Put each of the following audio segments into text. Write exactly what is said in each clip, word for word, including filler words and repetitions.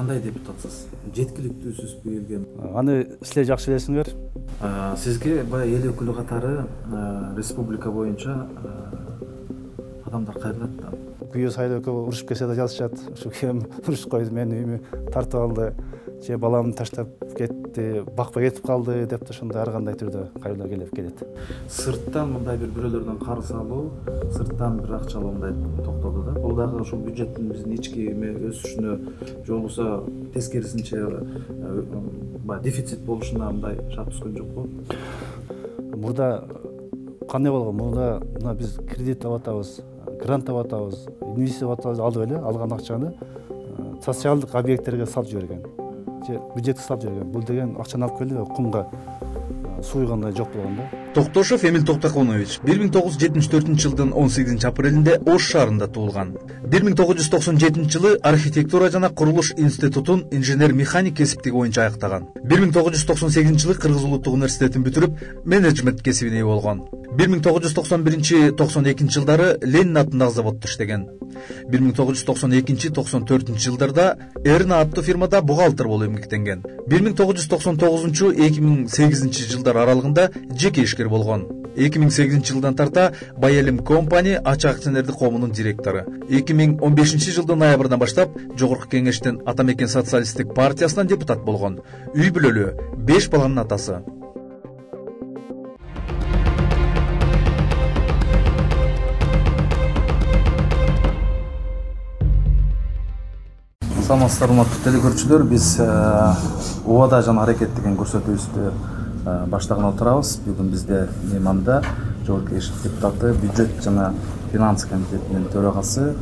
кандай депутатсыз? Жеткиликтүүсүзбү элге? Аны силер жакшы билесиңер. Сизге баягы эл өкүлү катары республика боюнча адамдар кайрылат да. Күйөө сайлоого урушуп келсе да жазышат. Ушу кем урушуп койду, мени үйүмө тартып алды, же баламды таштап кетти, бакпай кетип калды деп да ошондой ар кандай түрдө кайрылуу келип келет. Сырттан мындай бир бирөөлөрдөн карыз алуу, сырттан бир акча алуу мындай токтоду да. Бул дагы ошол бюджеттин биздин ички өсүшүнө же болбосо тескерисинче баягы дефицит болушуна мындай шарт түзгөн жокпу? Мурда кандай болгон? Мурда мына биз кредит алып атабыз, грант алып атабыз, инвестиция алып эле алган акчаны социалдык объекттерге салып жиберген. Же бюджетке салып жиберген. Бул деген акчаны алып келип кумга суйгандай жок болгон да. Токтошов Эмил Токтоконович бир миң тогуз жүз жетимиш төртүнчү жылдын он сегизинчи апрелинде Ош шаарында туулган. бир миң тогуз жүз токсон жетинчи жылы архитектура жана курулуш институтун инженер-механик кесиптиги боюнча аяктаган. бир миң тогуз жүз токсон сегизинчи жылы Кыргыз улуттук университетин бүтүрүп, менеджмент кесибине ээ болгон. бир миң тогуз жүз токсон биринчи — токсон экинчи жылдары Ленин атындагы заводдо иштеген. бир миң тогуз жүз токсон экинчи — токсон төртүнчү жылдарда Эрна аттуу фирмада бухгалтер болуп эмгектенген. бир миң тогуз жүз токсон тогузунчу — эки миң сегизинчи жылдар аралыгында жеке ишкер болгон. эки миң сегизинчи жылдан тарта Байелим компани ачык акционердик коомунун директору. эки миң он бешинчи жылдын ноябрынан баштап Жогорку Кеңештин Атамекен социалисттик партиясынан депутат болгон. Үй бүлөлүү, беш баланын атасы. Саламатсыздар, урматтуу телекөрүүчүлөр. Биз Убада жана аракет деген көрсөтүүбүздү баштаган отурабыз. Бүгүн бизде мейманда Жогорку Кеңеш депутаты, бюджет жана финанс комитетинин төрагасы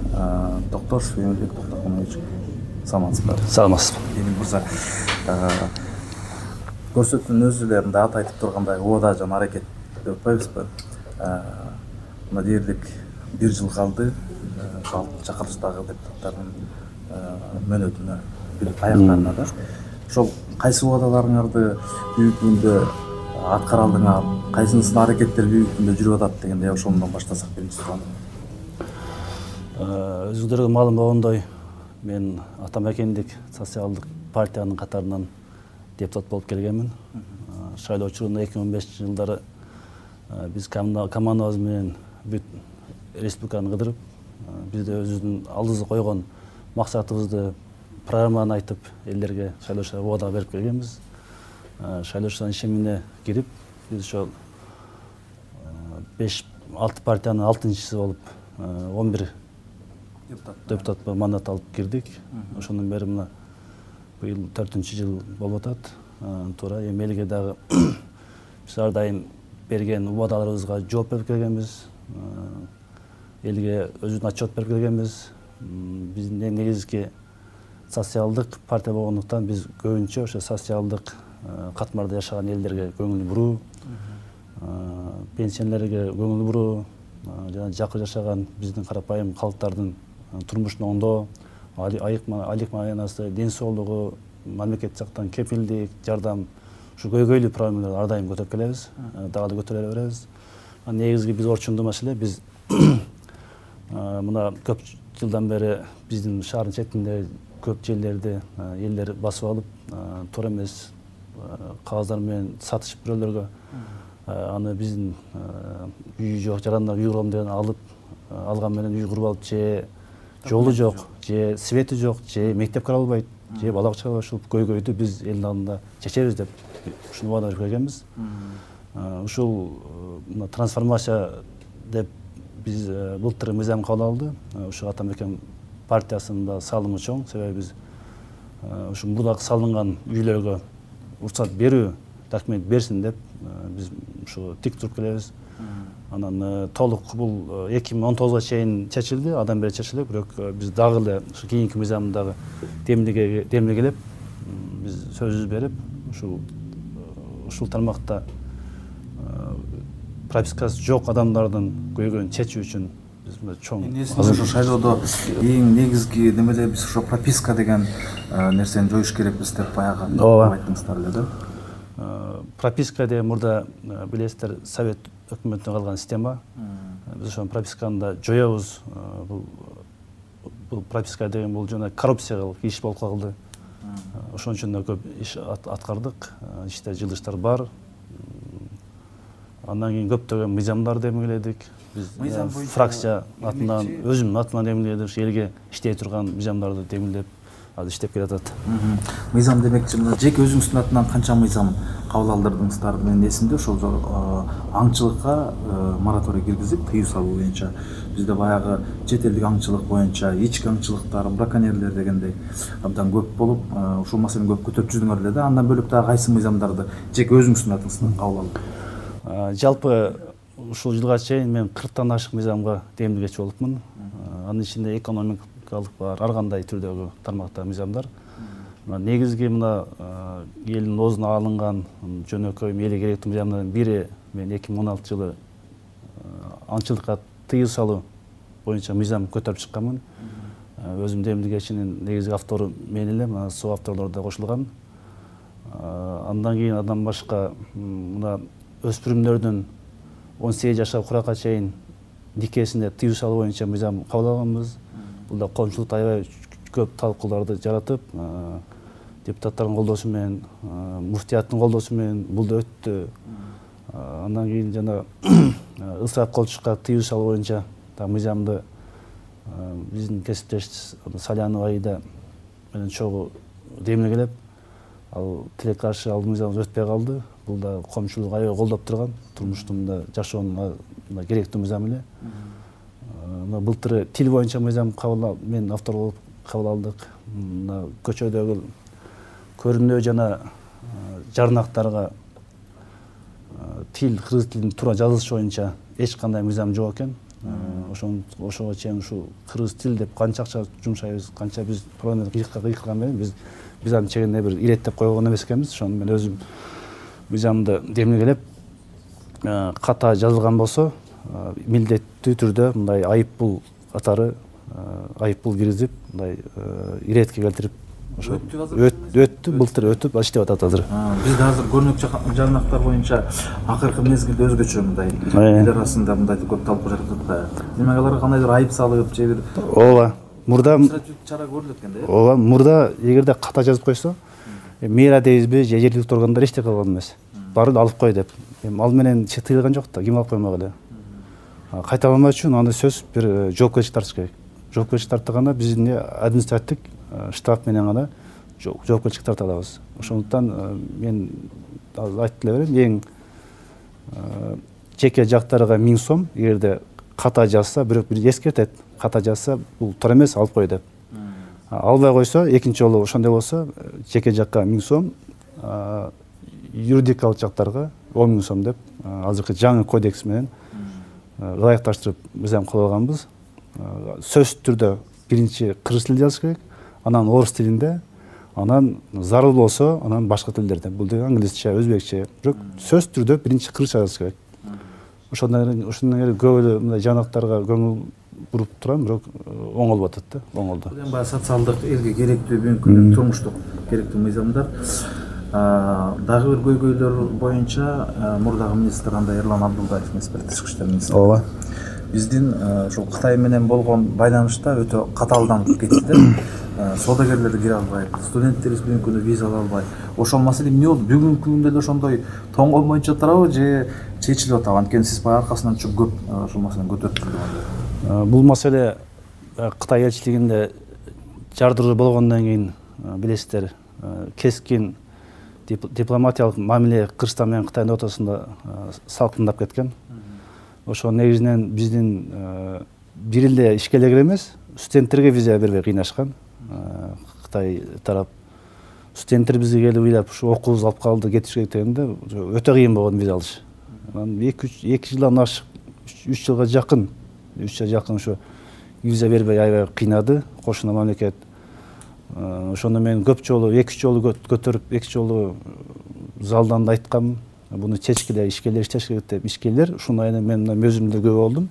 Токтошов Эмил Токтоконович. Саламатсызбы? Саламатсызбы. Эмил мырза, көрсөтүүнүн өзү эле мындай аты айтып тургандай Убада жана аракет деп атпайбызбы? Мына дээрлик бир жыл калды чакырылыштагы депутаттардын мөөнөтүнө, аяктарына да. Ошол кайсы убадаларыңарды бүгүнкү күндө аткара алдыңар, кайсынысынын аракеттери бүгүнкү күндө жүрүп атат дегенде ошондон баштасак биринчи суроо. Өзүңөргө маалым болгондой, мен Атамекендик социалдык партиянын катарынан депутат болуп келгенмин. Шайлоо учурунда эки миң он бешинчи жылдары биз командабыз менен бүт республиканы кыдырып, бизде өзүбүздүн алдыбызга койгон максатыбызды, программаны айтып, элдерге шайлоочуларга убада берип келгенбиз. Шайлоочулардын ишемине кирип, биз ошол беш алты партиянын алтынчысы болуп он бир депутат мандат алып кирдик. Ошондон бери мына быйыл төртүнчү жыл болуп атат. Туура эми элге дагы биз ар дайым берген убадаларыбызга жооп берип келгенбиз. Элге өзүбүздүн отчет берип келгенбиз. Биздин эң негизги социалдык партия болгондуктан биз көбүнчө ошо социалдык катмарда жашаган элдерге көңүл буруу, пенсионерлерге көңүл буруу, жана жакыр жашаган биздин карапайым калктардын турмушун оңдоо, айлык маянасы, ден соолугу, мамлекет жактан кепилдик, жардам, ушу көйгөйлүү проблемаларды ар дайым көтөрүп келебиз, дагы да көтөрө беребиз. Негизги биз орчундуу маселе, биз мына көп жылдан бери биздин шаардын четинде көп жерлерди элдер басып алып, туура эмес кагаздар менен сатышып бирөөлөргө, аны биздин үй жок, жарандар үй курам деген алып алган менен үй куруп алып, же жолу жок, же свети жок, же мектеп кыра албайт, же бала бакчага ушул көйгөйдү биз элдин алдында чечебиз деп ушуну убада берип келгенбиз. Ушул мына трансформация деп биз былтыр мыйзам кабыл алды. Ушу Атамекен партиясында салымы чоң, себеби биз ушу мурдагы салынган үйлөргө уруксат берүү документ берсин деп биз ушу тик туруп келебиз. Анан толук бул эки миң он тогузга чейин чечилди, адам бери чечилди, бирок биз дагы эле ушу кийинки мыйзамдагы демилгелеп биз сөзүбүз берип, ушул ушул тармакта пропискасы жок адамдардын көйгөйүн чечүү үчүн биз чоң ошо шайлоодо эң негизги немелер биз ошо прописка деген нерсени жоюш керекпиз деп баягы айттыңыздар эле да. Прописка деген мурда билесиздер Совет өкмөтүнөн калган система. Биз ошол прописканы да жоебуз. Бул бул прописка деген бул жана коррупцияга иш болуп калды. Ошон үчүн да көп иш аткардык, иште жылыштар бар. Андан кийин көптөгөн мыйзамдар демилгеледик. Биз фракция атынан, өзүмдүн атынан демилгедик, элге иштей турган мыйзамдарды демилдеп азыр иштеп келатат. Мыйзам демекчи, мына жеке өзүңүздүн атынан канча мыйзам кабыл алдырдыңыздар? Мен эсимде ошол аңчылыкка мораторий киргизип, тыюу салуу боюнча. Бизде баягы чет элдик аңчылык боюнча, ички аңчылыктар, браконьерлер дегендей абдан көп болуп, ушул маселени көп көтөрүп жүрдүңөр эле да. Андан бөлөк дагы кайсы мыйзамдарды жеке өзүңүздүн атыңыздан кабыл алдыңыз? Жалпы ушул жылга чейин мен кырктан ашык мыйзамга демилгечи болупмун. Анын ичинде экономикалык бар, ар кандай түрдөгү тармактагы мыйзамдар. Негизги мына элдин оозуна алынган жөнөкөй элге керектүү мыйзамдардын бири мен эки миң он алтынчы жылы аңчылыкка тыюу салуу боюнча мыйзам көтөрүп чыкканмын. Өзүм демилгечинин негизги автору мен элем, со авторлор да кошулган. Андан кийин андан башка мына өспүрүмдөрдүн он сегиз жашка куракка чейин никесинде тыюу салуу боюнча мыйзам кабыл алганбыз. Бул да коомчулукта аябай көп талкууларды жаратып, депутаттардын колдоосу менен, муфтияттын колдоосу менен бул да өттү. Андан кийин жана ысырап колчукка тыюу салуу боюнча да мыйзамды биздин кесиптеш Салянова Аида менен чогуу демилгелеп, ал тилекке каршы ал мыйзам өтпөй калды. Бул да коомчулук аябай колдоп турган, турмуштун жашоонун керектүү мыйзам эле. Былтыр тил боюнча мыйзам кабыл мен автор болуп кабыл алдык. Көчөдөгү көрүнүү жана жарнактарга тил, кыргыз тилин туура жазылышы боюнча эч кандай мыйзам жок экен. Ошон ошого чейин ушул кыргыз тил деп канча акча жумшайбыз, канча биз парламент кыйкылган менен биз биз аны чегине бир иреттеп койгон эмес экенбиз. Ошону мен өзүм мыйзамды демилгелеп, ката жазылган болсо милдеттүү түрдө мындай айыппул катары айыппул киргизип, мындай иретке келтирип ошо өттү, былтыр өтүп иштеп атат азыр. Бизде азыр көрүнөк жарнактар боюнча акыркы мезгилде өзгөчө мындай эл арасында мындай көп талкуу жаратып атат. Демек аларга кандайдыр айып салып, же бир ооба, мурда чара көрүлөт экен да. Ооба, мурда эгерде ката жазып койсо, мэра дейбизби, же жергиликтүү органдар эчтеке кылган эмес. Барын алып кой деп. Эми ал менен тыйылган жок да, ким алып коймок эле. Кайталамаш үчүн аны сөз бир жоопкерчилик тартыш керек. Жоопкерчилик тартканда биздин административдик штраф менен гана жоопкерчилик тарта алабыз. Ошондуктан мен айтып эле берем, эң жеке жактарга миң сом, эгерде ката жазса, бирок бир эскертет, ката жазса, бул туура эмес, алып кой деп. Албай койсо, экинчи жолу ошондой болсо, жеке жакка миң сом, юридикалык жактарга он миң сом деп азыркы жаңы кодекс менен ылайыкташтырып мыйзам кылып алганбыз. Сөз түрдө биринчи кыргыз тилинде жазыш керек, анан орус тилинде, анан зарыл болсо, анан башка тилдерде. Бул деген англисче, өзбекче, бирок сөз түрдө биринчи кыргызча жазыш керек. Ошондон ошондон көп эле мындай жанактарга көңүл буруп турам, бирок оңолуп атат да, оңолду. Бул эми баягы социалдык, элге керектүү, бүгүнкү күндө турмуштук керектүү мыйзамдар. Дагы бир көйгөйлөр боюнча мурдагы министр андай Эрлан Абдулдаев, тышкы иштер министри. Ооба. Биздин ушул Кытай менен болгон байланышта өтө катаалданып кетти да. Соодагерлер кире албайт, студенттерибиз бүгүнкү күндө виза ала албайт. Ошол маселе эмне болду? Бүгүнкү күндө эле ошондой тоңгол боюнча турабы, же чечилип атабы? Анткени сиз баягы аркасынан чоң көп ушул маселени көтөрүп жүрдүңүз. Бул маселе Кытай элчилигинде жардыруу болгондон кийин билесиздер, кескин дипломатиялык мамиле Кыргызстан менен Кытайдын ортосунда салкындап кеткен. Ошо негизинен биздин бир эле ишкерлерге эмес, студенттерге виза бербей кыйнашкан. Кытай тарап студенттер бизге келип ыйлап, ушу окуубузду алып калды, кетиш керек дегенде өтө кыйын болгон виза алыш. Анан эки жылдан ашык, үч жылга жакын, үч жылга жакын ошо виза бербей аябай кыйнады кошуна мамлекет. Ошондо мен көп жолу, эки жолу көтөрүп, эки жолу залдан да айткам, буну чечкиле, ишкерлер иштеш керек деп, ишкерлер ушуну айынан мен өзүм да күбө болдум.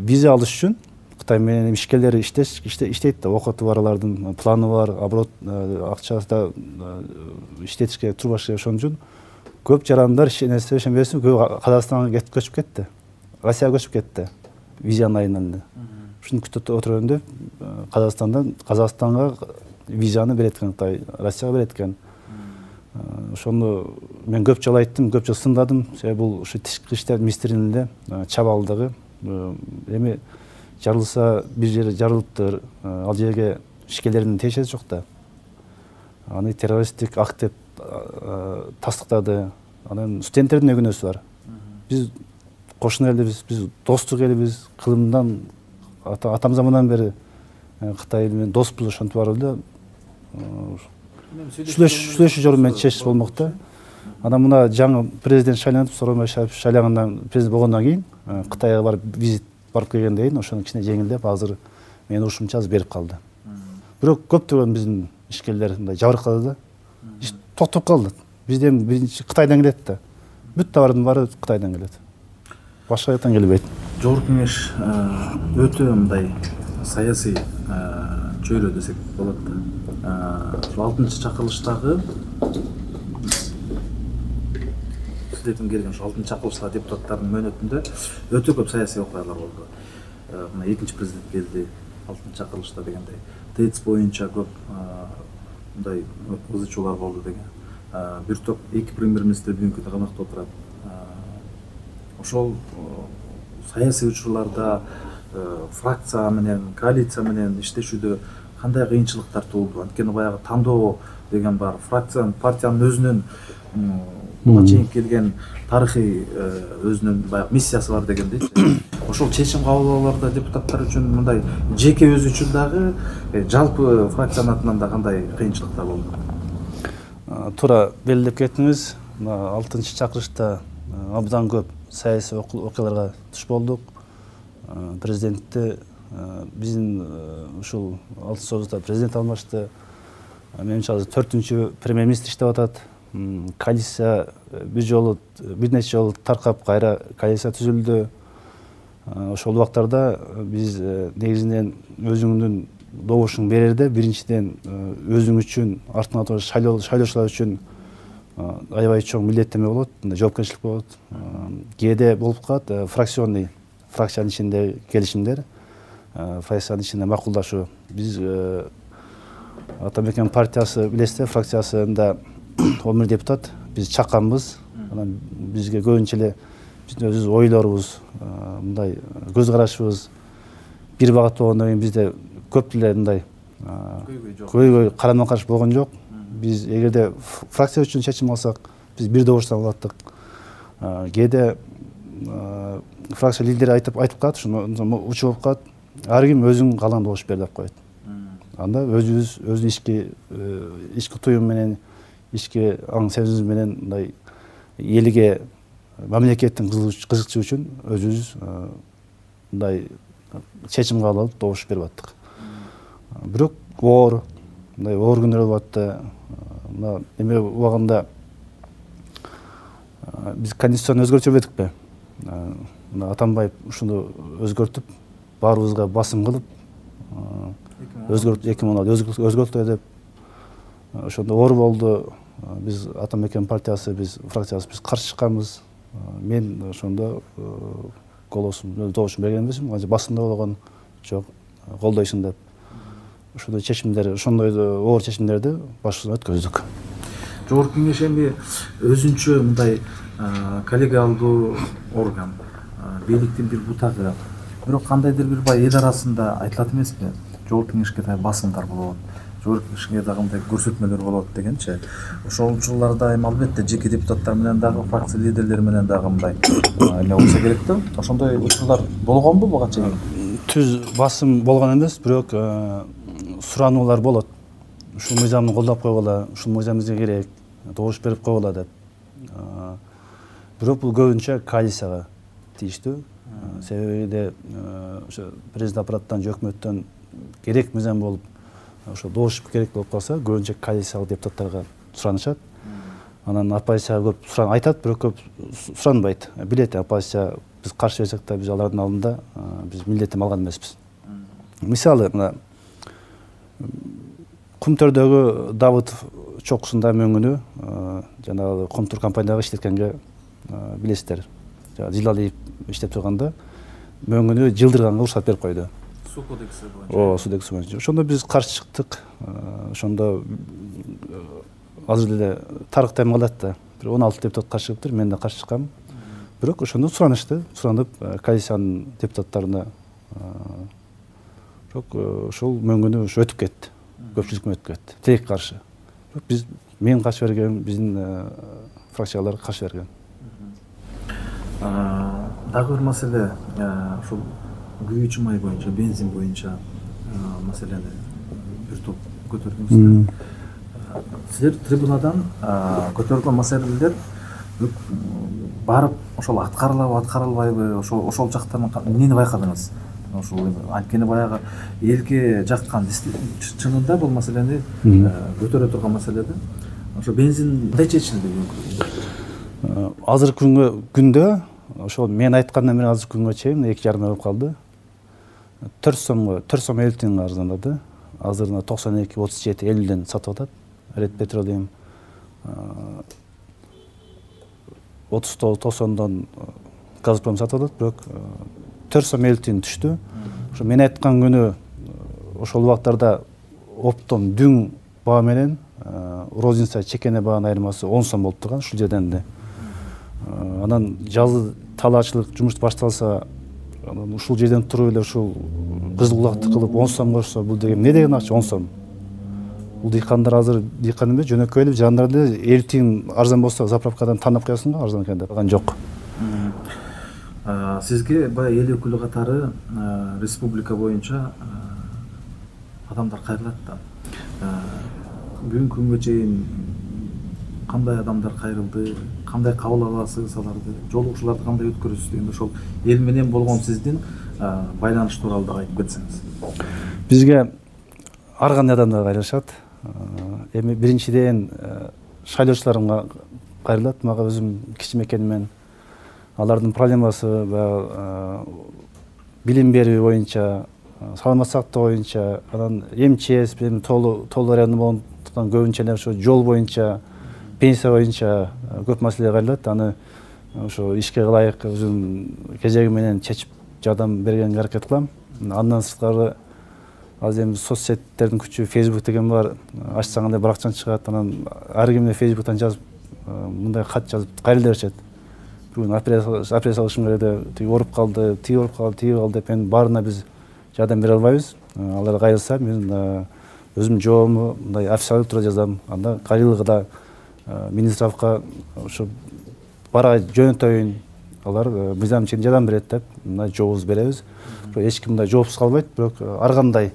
Виза алыш үчүн Кытай менен ишкерлер иштеш, иштейт да, окуту бар, алардын планы бар, оборот акчада иштетиш керек, турбаш керек. Ошон үчүн көп жарандар ишенесиң, ишенбесиң, көп Казакстанга көчүп кетти. Россияга көчүп кетти. Визанын айынан эле. Ушуну күтүп отурганда Казакстандан Казакстанга визаны берет экен, Кытай Россияга берет экен. Ошону мен көп жолу айттым, көп жолу сындадым. Себеби бул ушу тышкы иштер министрлигинин эле чабалдыгы. Эми жарылса бир жери жарылыптыр, ал жерге ишкерлердин тиешеси жок да. Аны террористтик акт деп тастыктады. Анан студенттердин да күнөөсү бар. Биз кошуна элбиз, биз достук элбиз, кылымдан атам замандан бери Кытай менен доспуз, ошентип барып эле сүйлөшүү жолу менен чечиш болмок да. Анан мына жаңы президент шайланып, Сооронбай шайлангандан президент болгондон кийин Кытайга барып визит барып келгенден кийин ошону кичине жеңилдеп, азыр менин урушумча азыр берип калды. Бирок көптөгөн биздин ишкерлер мындай жабыркады да. Иш токтоп калды. Бизден биринчи Кытайдан келет да. Бүт товардын баары Кытайдан келет. Башка жактан келбейт. Жогорку кеңеш өтө мындай саясий чөйрө десек болот да. алтынчы чакырылыштагы сиздердин келген ушу алтынчы чакырылыштагы депутаттардын мөөнөтүндө өтө көп саясий окуялар болду. Мына экинчи президент келди алтынчы чакырылышта дегендей. ТЭЦ боюнча көп мындай ызы чуулар болду деген. Бир топ эки премьер-министр бүгүнкү күндө камакта отурат. Ошол саясий учурларда фракция менен, коалиция менен иштешүүдө кандай кыйынчылыктар туулду? Анткени баягы тандоо деген бар. Фракциянын, партиянын өзүнүн буга чейин келген тарыхый өзүнүн баягы миссиясы бар дегендейчи. Ошол чечим кабыл депутаттар үчүн мындай жеке өзү үчүн дагы, жалпы фракциянын атынан да кандай кыйынчылыктар болду? Туура белгилеп кеттиңиз. алтынчы чакырылышта абдан көп саясий окуяларга туш болдук. Президентти биздин ушул алтын союзда президент алмашты. Менимче азыр төртүнчү премьер-министр иштеп атат. Коалиция бир жолу бир нече жолу таркап кайра коалиция түзүлдү. Ошол убактарда биз негизинен өзүңдүн добушуң берерде биринчиден өзүң үчүн, артыңа туруп шайлоочулар үчүн аябай чоң милдеттенме болот, жоопкерчилик болот. Кээде болуп калат фракционный, фракциянын ичинде келишимдер, фракциянын ичинде макулдашуу. Биз Атамекен партиясы билесиздер, фракциясында он бир депутат биз чакканбыз. Анан бизге көбүнчө эле биздин өзүбүз ойлорубуз, мындай көз карашыбыз бир багат болгондон кийин бизде көп эле мындай көйгөй карама каршы болгон жок. Биз эгерде фракция үчүн чечим алсак, биз бир добуштан алаттык. Кээде фракция лидери айтып айтып калат, ушуну учу болуп калат. Ар ким өзүң каалган добуш бер деп коет. Анда өзүбүз өзүнүн ички ички туюм менен, ички аң сезимибиз менен мындай элге, мамлекеттин кызыкчы үчүн өзүбүз мындай чечим кабыл алып добуш берип аттык. Бирок оор, мындай оор күндөр болуп атты. Мына эме убагында биз конституцияны өзгөртүп жибердикпи? Мына Атамбаев ушуну өзгөртүп, баарыбызга басым кылып, өзгөртүп эки миң он алты өзгөртүлдү деп ошондо оор болду. Биз Атамекен партиясы, биз фракциясы биз каршы чыкканбыз. Мен ошондо голосум, добушум берген эмесмин, азыр басымда болгон жок, колдойсуң деп. Ошондой чечимдер, ошондой оор чечимдерди башыбыздан өткөздүк. Жогорку кеңеш эми өзүнчө мындай коллегиалдуу орган, бийликтин бир бутагы. Бирок кандайдыр бир бай эл арасында айтылат эмеспи? Жогорку кеңешке да басымдар болот, жогорку кеңешке дагы мындай көрсөтмөлөр болот дегенчи. Ошол учурларда эми албетте жеке депутаттар менен дагы, фракция лидерлери менен дагы мындай эме болсо керек да. Ошондой учурлар болгонбу буга чейин? Түз басым болгон эмес, бирок сурануулар болот. Ушул мыйзамды колдоп койгула, ушул мыйзам бизге керек, добуш берип койгула деп. Бирок бул көбүнчө коалицияга тийиштүү. Себеби ошо президент аппараттан, өкмөттөн керек мыйзам болуп, ошо добуш керек болуп калса, көбүнчө коалициялык депутаттарга суранышат. Анан оппозицияга көп суран айтат, бирок көп суранбайт. Билет, оппозиция биз каршы берсек да, биз алардын алдында биз милдеттенме алган эмеспиз. Мисалы, мына Кумтөрдөгү Давыдов чокусунда мөңгүнү жанагы Комтур компаниядагы иштеткенге билесиздер. Жылалиев иштеп турганда мөңгүнү жылдырганга уруксат берип койду. суу кодекси боюнча. Ооба, суу кодекси боюнча. Ошондо биз каршы чыктык. Ошондо азыр деле тарыктан калат да. Бир он алты депутат каршы чыгыптыр, мен да каршы чыккам. Бирок ошондо суранышты, суранып коалициянын депутаттарына бирок ошол мөңгүнү ошо өтүп кетти. Көпчүлүк өтүп кетти. Тилек каршы. Бирок биз мен каршы берген, биздин фракциялар каршы берген. Дагы бир маселе ушул күйүүчү май боюнча, бензин боюнча маселени бир топ көтөрдүңүздөр. Силер трибунадан көтөрүлгөн маселелер барып ошол аткарылабы, аткарылбайбы, ошол ошол жактан эмнени байкадыңыз? Ошол анткени баягы элге жаккан чынында бул маселени көтөрө турган маселе да. Ошо бензин кандай чечилди бүгүнкү? Азыркы күнгө күндө ошол мен айткандан бери азыркы күнгө чейин эки жарым ай болуп калды. төрт сомго, төрт сом элүү тиын арзандады. Азыр токсон эки отуз жети элүүдөн сатып атат. Ред Петролиум отуз тогуз токсондон Газпром сатып атат, бирок төрт сом элүү тиын түштү. Ошо мен айткан күнү ошол убактарда оптом дүң баа менен розница чекене баанын айырмасы он сом болуп турган ушул жерден эле. Анан жазы талаачылык жумуш башталса, анан ушул жерден туруп эле ушул кызыл кулакты кылып он сом кошсо, бул деген эмне деген акча он сом? Бул дыйкандар азыр дыйкан эмес, жөнөкөй эле жандар эле элүү тиын арзан болсо заправкадан танып коесуң го, арзан экен деп. Калган жок. Сизге баягы эл өкүлү катары республика боюнча адамдар кайрылат да. Бүгүнкү күнгө чейин кандай адамдар кайрылды, кандай кабыл аласыз аларды, жолугушууларды кандай өткөрөсүз дегенде ошол эл менен болгон сиздин байланыш тууралуу да айтып кетсеңиз. Бизге ар кандай адамдар кайрылышат. Эми биринчиден шайлоочуларга кайрылат. Мага өзүм кичим экенимен алардын проблемасы баягы билим берүү боюнча, саламат сактоо боюнча, анан МЧС менен толуу толуу району болгондуктан көбүнчө эле ошо жол боюнча, пенсия боюнча көп маселе кайрылат. Аны ошо ишке ылайык өзүм кезеги менен чечип жардам бергенге аракет кылам. Андан сырткары азыр эми соцсеттердин күчү, Facebook деген бар, ачсаң эле баракчаң чыгат. Анан ар кимге Facebooктан жазып, мындай кат жазып кайрылда беришет. Бүгүн операция алышым керек, тиги ооруп калды, тиги ооруп калды, тиги калды деп, эми баарына биз жардам бере албайбыз. Алар кайрылса, мен өзүм жообумду мындай официалдуу түрдө жазам. Анда кайрылыгы да министровка ошо бара жөнөтөйүн, алар мыйзам чегинде жардам берет деп мындай жообубузду беребиз. Эч ким мындай жоопсуз калбайт, бирок ар кандай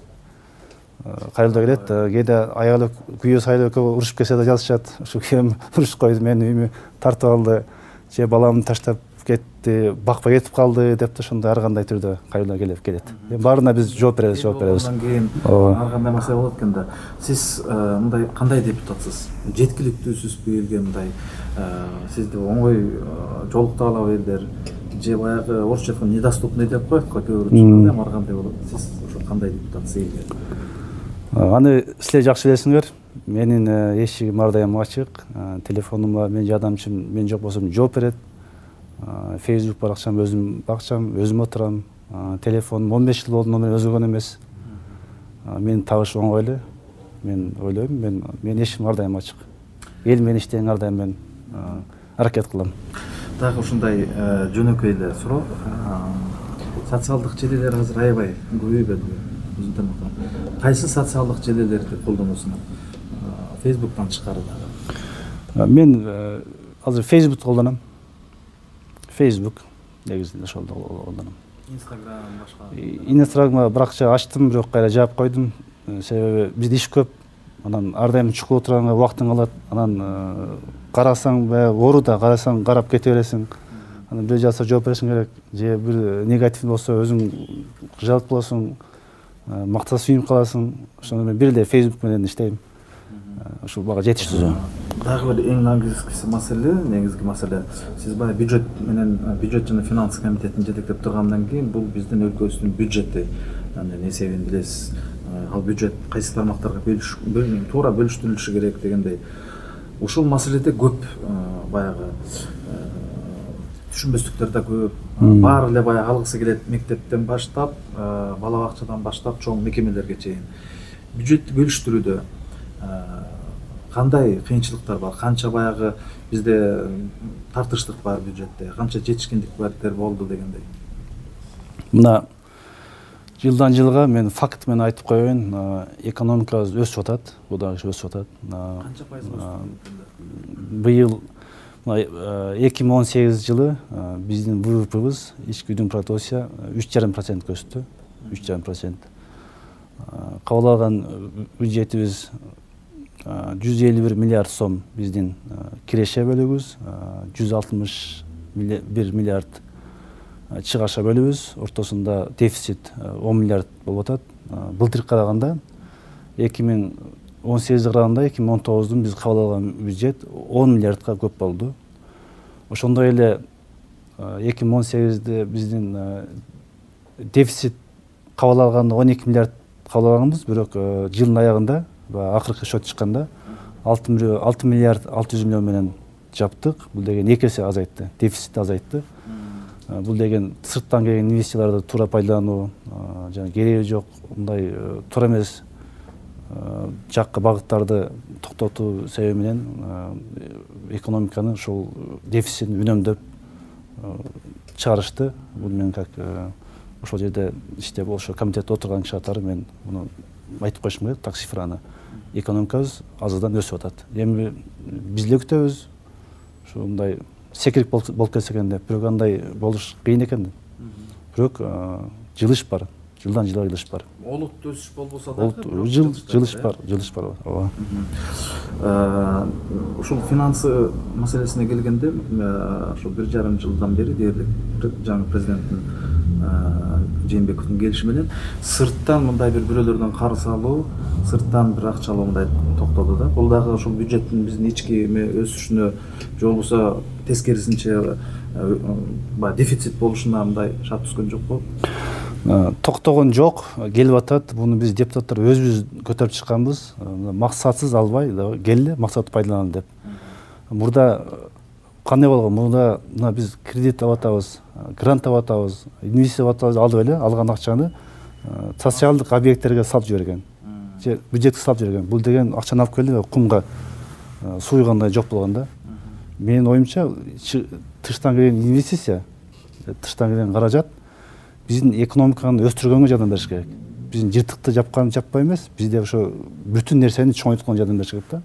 кайрылда келет. Кээде аялы күйөө сайлоо экөө урушуп кетсе да жазышат. Ушу күйөөм урушуп койду, мени үйүмө тартып алды, же баламды таштап кетти, бакпай кетип калды деп да ошондой ар кандай түрдө кайрылда келип келет. Эми баарына биз жооп беребиз, жооп беребиз. Андан кийин ар кандай маселе болот экен да. Сиз мындай кандай депутатсыз? Жеткиликтүүсүзбү элге мындай? Сизди оңой жолуктуп алабы элдер? Же баягы орусча айтканда недоступный деп коет го, көбүрөөк чыкканда эми ар кандай болот? Сиз ошо кандай депутатсыз элге? Аны силер жакшы билесиңер. Менин эшигим ар дайым ачык. Телефонума менин жардамчым мен жок болсом жооп берет. Facebook баракчам өзүм бакчам, өзүм отурам. Телефонум он беш жыл болду, номер өзгөргөн эмес. Менин табыш оңой эле. Мен ойлойм, мен менин эшигим ар дайым ачык. Эл менен иштеген ар дайым мен аракет кылам. Дагы ушундай жөнөкөй эле суроо. Социалдык желелер азыр аябай көбөйбөдүбү? Кайсы социалдык желелерди колдоносуңар? Facebooktан тышкары дагы. Мен азыр Facebook колдоном. Facebook негизинде ошолду колдоном. Instagram башка. Instagramга баракча ачтым, бирок кайра жаап койдум. Себеби бизде иш көп. Анан ар дайым чукулуп турганга убактың калат. Анан карасаң баягы ооруда, карасаң карап кете бересиң. Анан бир жазса жооп беришиң керек. Же бир негатив болсо өзүң жалт болосуң, мактаса сүйүнүп каласың. Ошондо мен бир эле Facebook менен иштейм. Ушул бага жетиштүү. Дагы бир эң негизги маселе, негизги маселе. Сиз баягы бюджет менен бюджет жана финанс комитетин жетектеп тургандан кийин бул биздин өлкөбүздүн бюджети, анын эсебин билесиз. Ал бюджет кайсы тармактарга бөлүнүп, туура бөлүштүрүлүшү керек дегендей. Ушул маселеде көп баягы түшүнбөстүктөр да көп. Баары эле баягы алгысы келет, мектептен баштап, бала бакчадан баштап чоң мекемелерге чейин. Бюджетти бөлүштүрүүдө кандай кыйынчылыктар бар? Канча баягы бизде тартыштык бар бюджетте, канча жетишкендиктер болду дегендей. Мына жылдан жылга мен факт менен айтып коеюн, экономикабыз өсүп атат, удагы өсүп атат. Канча пайыз өстү? Быйыл эки миң он сегизинчи жылы биздин вэ вэ пыбыз, ички өнүм продукция үч жарым процентке өстү. үч жарым процент. Кабыл алган бюджетибиз жүз элүү бир миллиард сом биздин киреше бөлүгүбүз, жүз алтымыш бир миллиард чыгаша бөлүбүз, ортосунда дефицит он миллиард болуп атат. Былтыркы караганда эки миң он сегизге караганда эки миң он тогуздун биз кабыл алган бюджет он миллиардка көп болду. Ошондой эле эки миң он сегизде биздин дефицит кабыл алганда он эки миллиард кабыл алганбыз, бирок жылдын аягында акыркы счет чыкканда алты миллиард алты жүз миллион менен жаптык. Бул деген эки эсе азайтты, дефицит азайтты. Бул деген сырттан келген инвестицияларды туура пайдалануу, жана кереги жок мындай туура эмес жакка багыттарды токтотуу себеби менен экономиканы ушул дефицитин үнөмдөп чыгарышты. Бул мен как ошол жерде иштеп ошо комитетте отурган киши катары мен муну айтып коюшум керек, так цифраны. Экономикабыз азырдан өсүп атат. Эми биз эле күтөбүз. Ушундай секирип болуп кетсе экен деп, бирок андай болуш кыйын экен. Бирок жылыш бар. Жылдан жылга жылыш бар. Олуттуу өсүш болбосо да, жыл жылыш бар, жылыш бар. Ооба. Ушул финансы маселесине келгенде, ошо бир жарым жылдан бери дээрлик жаңы президенттин Жээнбековдун келиши менен сырттан мындай бир бирөөлөрдөн карыз алуу, сырттан бир акча алуу мындай токтолду да. Бул дагы ошол бюджеттин биздин ички өсүшүнө же болбосо тескерисинче баягы дефицит болушуна мындай шарт түскөн жокпу? Токтогон жок, келип атат. Буну биз депутаттар өзүбүз көтөрүп чыкканбыз. Максатсыз албай, келли, максатты пайдаланалы деп. Мурда кандай болгон? Мурда мына биз кредит алып атабыз, грант алып атабыз, инвестиция алып атабыз, алып эле алган акчаны социалдык объекттерге салып жиберген. Же бюджетке салып жиберген. Бул деген акчаны алып келип кумга суйгандай жок болгон да. Менин оюмча, тыштан келген инвестиция, тыштан келген каражат биздин экономиканы өстүргөнгө жардам бериш керек. Биздин жыртыкты жапкан жаппай эмес, бизде ошо бүтүн нерсени чоңойтконго жардам бериш керек да.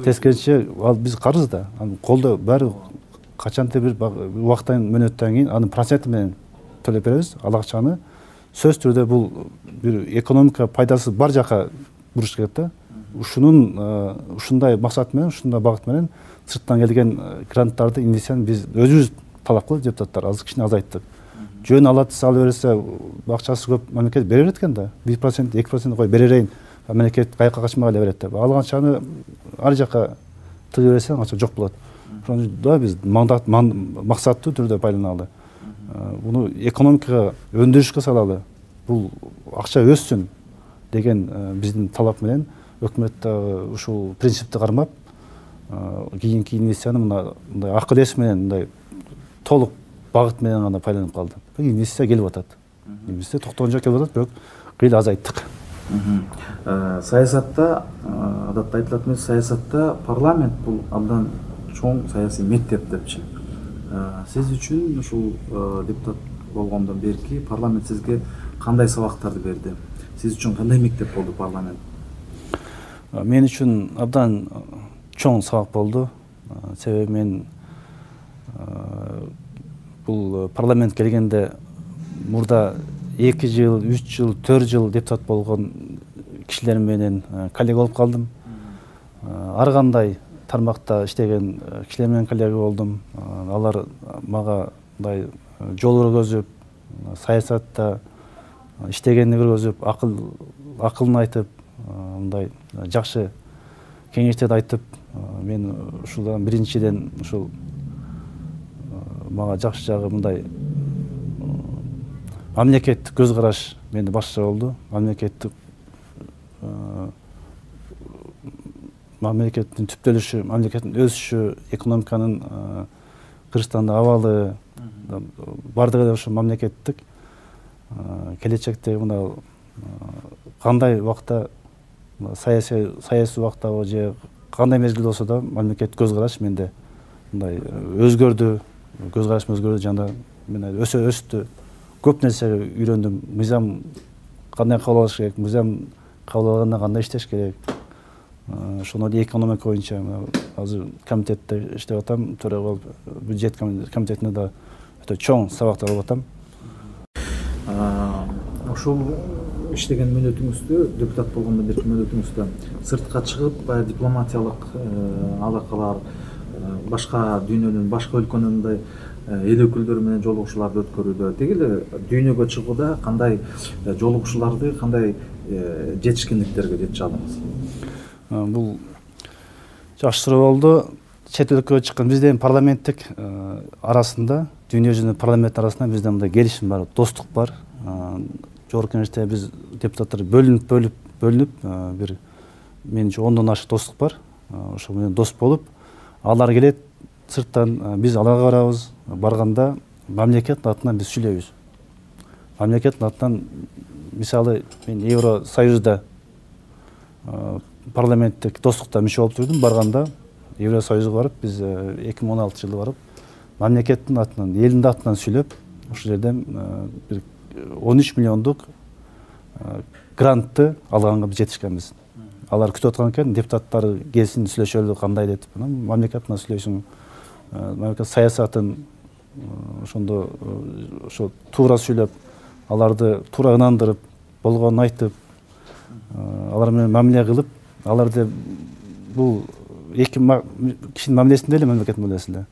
Тескерисинче ал биз карыз да, колдо баары качанты бир убакыттан мөөнөттөн кийин анын проценти менен төлөп беребиз. Ал акчаны сөз түрдө бул бир экономика пайдасы бар жака буруш керек да. Ушунун ушундай максат менен, ушундай багыт менен сырттан келген гранттарды, инвестицияны биз өзүбүз талап кылып депутаттар азыр кичине азайттык. Жөн алат салып берсе, акчасы көп мамлекет бере берет экен да. бир процент, эки процент кой бере берейин. Мамлекет кайыкка качмай эле берет деп. Алган акчаны ар жака тыгып берсең, акча жок болот. Ошондо биз максаттуу түрдө пайдаланалы. Буну экономикага, өндүрүшкө салалы. Бул акча өссүн деген биздин талап менен өкмөт ушул принципти кармап, кийинки инвестицияны мындай акыл эс менен, мындай толук багыт менен гана пайдаланып калды. Инвестиция келип атат. Инвестиция токтогон жок келип атат, бирок кыйла азайттык. Саясатта, адатта айтылат эмес, саясатта парламент бул абдан чоң саясий мектеп депчи. Сиз үчүн ушул депутат болгондон берки парламент сизге кандай сабактарды берди? Сиз үчүн кандай мектеп болду парламент? Мен үчүн абдан чоң сабак болду. Себеби мен бул парламент келгенде мурда эки жыл, үч жыл, төрт жыл депутат болгон кишилер менен коллега болуп калдым. Ар кандай тармакта иштеген кишилер менен коллега болдум. Алар мага мындай жол көргөзүп, саясатта иштегенди көргөзүп, акыл акылын айтып, мындай жакшы кеңештерди айтып, мен ушулдан биринчиден ушул мага жакшы жагы мындай мамлекеттик көз караш менде башка болду. Мамлекеттик мамлекеттин түптөлүшү, мамлекеттин өсүшү, экономиканын Кыргызстандын абалы бардыгы эле ошо мамлекеттик келечекте мына кандай убакта саясий саясий убактабы же кандай мезгил болсо да мамлекет көз караш менде мындай өзгөрдү, көз карашым өзгөрдү жана мен өсө өстү, көп нерсе үйрөндүм. Мыйзам кандай кабыл алыш керек, мыйзам кабыл алганда кандай иштеш керек. Ошону эле экономика боюнча азыр комитетте иштеп атам, төрага болуп бюджет комитетинде да өтө чоң сабактар алып атам. Ошол иштеген мөөнөтүңүздө, депутат болгондо берки мөөнөтүңүздө сыртка чыгып, баягы дипломатиялык алакалар, башка дүйнөнүн, башка өлкөнүн мындай эл өкүлдөрү менен жолугушууларды өткөрүүдө, деги эле дүйнөгө чыгууда кандай жолугушууларды, кандай жетишкендиктерге жетише алдыңыз? Бул жакшы суроо болду. Чет өлкөгө чыккан биздин парламенттик арасында, дүйнө жүзүнүн парламент арасында бизде мындай келишим бар, достук бар. Жогорку кеңеште биз депутаттар бөлүнүп, бөлүп, бөлүнүп, бир менимче ондон ашык достук бар. Ошол менен дос болуп, алар келет сырттан, биз аларга барабыз. Барганда мамлекеттин атынан биз сүйлөйбүз. Мамлекеттин атынан, мисалы, мен Евросоюзда парламенттик достукта мүчө болуп турдум. Барганда Евросоюзга барып, биз эки миң он алтынчы жылы барып, мамлекеттин атынан, элдин атынан сүйлөп, ошол жерден бир он үч миллиондук грантты алганга биз жетишкенбиз. Алар күтүп аткан экен, депутаттар келсин, сүйлөшөлү, кандай деп. Мамлекет атынан сүйлөйсүң, мамлекет саясатын ошондо ошо туура сүйлөп, аларды туура ынандырып, болгонун айтып, алар менен мамиле кылып, аларды бул эки кишинин мамилесинде эле, мамлекеттин мамилесинде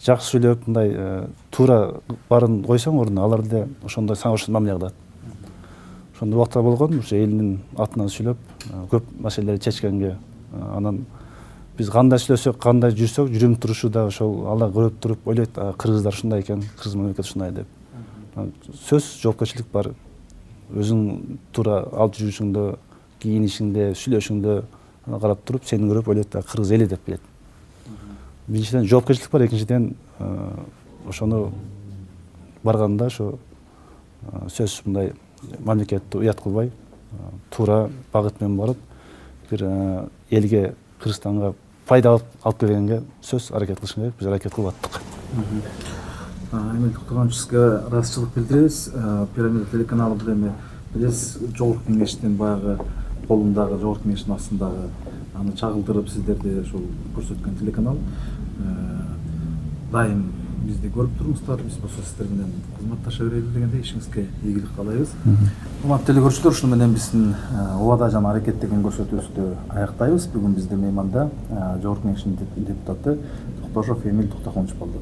жакшы сүйлөп, мындай туура барын койсоң ордуна, алар да ошондой сага ошол мамиле кылат. Ошондой убактар болгон, ушу элдин атынан сүйлөп, көп маселелерди чечкенге. Анан биз кандай сүйлөсөк, кандай жүрсөк, жүрүм турушу да ошол алар көрүп туруп ойлойт, кыргыздар ушундай экен, кыргыз мамлекети ушундай деп. Сөз жоопкерчилик бар. Өзүң туура алып жүрүшүңдө, кийинишиңде, сүйлөшүңдө карап туруп, сени көрүп ойлойт, кыргыз эли деп билет. Биринчиден жоопкерчилик бар, экинчиден ошону барганда ошо сөз мындай мамлекетти уят кылбай, туура багыт менен барып, бир элге, Кыргызстанга пайда алып келгенге сөз аракет кылышың керек, биз аракет кылып аттык. Эмил Токтогонович, сизге ыраазычылык билдиребиз. Пирамида телеканалы бул эми билесиз, жогорку кеңештин баягы колундагы, жогорку кеңештин астындагы аны чагылдырып сиздерди ошол көрсөткөн телеканал. Дайым бизди көрүп туруңуздар, биз болсо сиздер менен кызматташа берели дегенде ишиңизге ийгилик каалайбыз. Урматтуу телекөрүүчүлөр, ушуну менен биздин Убада жана аракет деген көрсөтүүбүздү аяктайбыз. Бүгүн биздин мейманда жогорку кеңештин депутаты Токтошов Эмил Токтогонович болду.